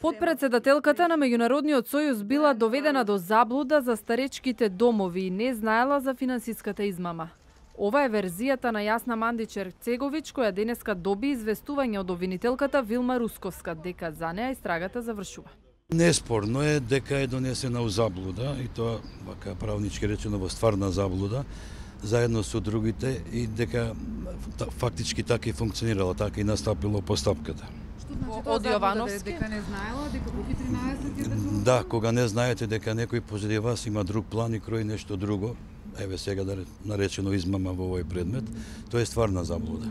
Подпредседателката на Меѓународниот сојуз била доведена до заблуда за старечките домови и не знаела за финансиската измама. Ова е верзијата на Јасна Мандич-Ерцегович, која денеска доби известување од обвинителката Вилма Русковска, дека за неа истрагата завршува. Неспорно е дека е донесена у заблуда, и тоа, вака правнички речено, во стварна заблуда, заедно со другите, и дека фактички така и функционирала, така и настапила постапката. Од Јовановски? Дека не знаела, дека Буки 13 Да, кога не знаете дека некој позади вас има друг план и крои нешто друго, еве сега да наречено измама во овој предмет, тоа е стварна заблуда.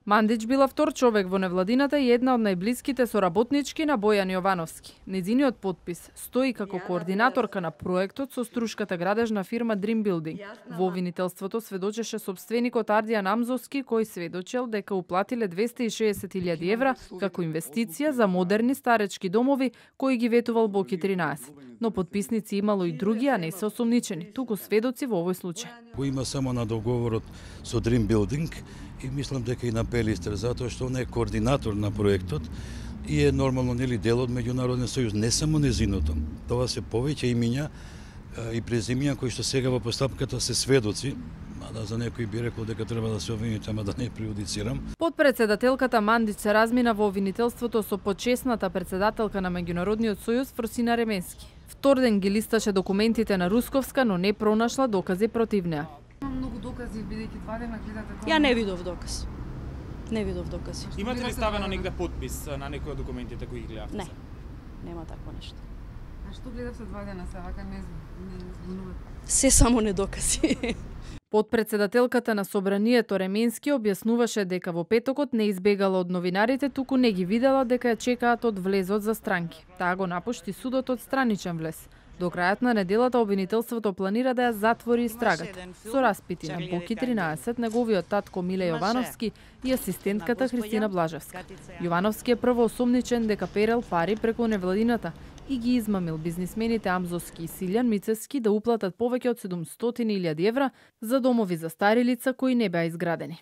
Мандич била втор човек во невладината и една од најблиските соработнички на Бојан Јовановски. Нејзиниот подпис стои како координаторка на проектот со струшката градежна фирма Dream Building. Во обвинителството сведочеше собственикот Ардијан Амзовски, кој сведочел дека уплатиле 260.000 евра како инвестиција за модерни старечки домови кои ги ветувал Боки 13. Но подписници имало и други, а не се осомничени, туку сведоци во овој случај. Го има само на договорот со Dream Building и мислам дека и на Пелистер, затоа што он е координатор на проектот и е нормално нели дел од Меѓународен сојуз, не само незиното. Тоа се повеќе имиња и презимиња кои што сега во постапката се сведоци, мада за некој би рекол дека треба да се обвинит, ама да не прејудицирам. Подпредседателката Мандич се размина во обвинителството со почесната председателка на Меѓународниот сојуз Фросина Ременски. Втор ден ги листаше документите на Русковска, но не пронашла докази против неа. Многу докази, бидејќи 2 дена гледате тоа. Ја не видов доказ. Не видов докази. Имате ли ставено негде подпис на некој од документите кои ги гледавте? Не. Нема такво нешто. А што гледавте 2 дена се вака не збунувате? Се само не докази. Подпредседателката на Собранието Ременски објаснуваше дека во петокот не избегала од новинарите, туку не ги видела дека ја чекаат од влезот за странки. Таа го напушти судот од страничен влез. До крајот на неделата обвинителството планира да ја затвори истрагата со распити на Боки 13, неговиот татко Миле Јовановски и асистентката Христина Блажевска. Јовановски е прво осомничен дека перел пари преку невладината и ги измамил бизнисмените Амзовски и Силјан Мицевски да уплатат повеќе од 700.000 евра за домови за стари лица кои не беа изградени.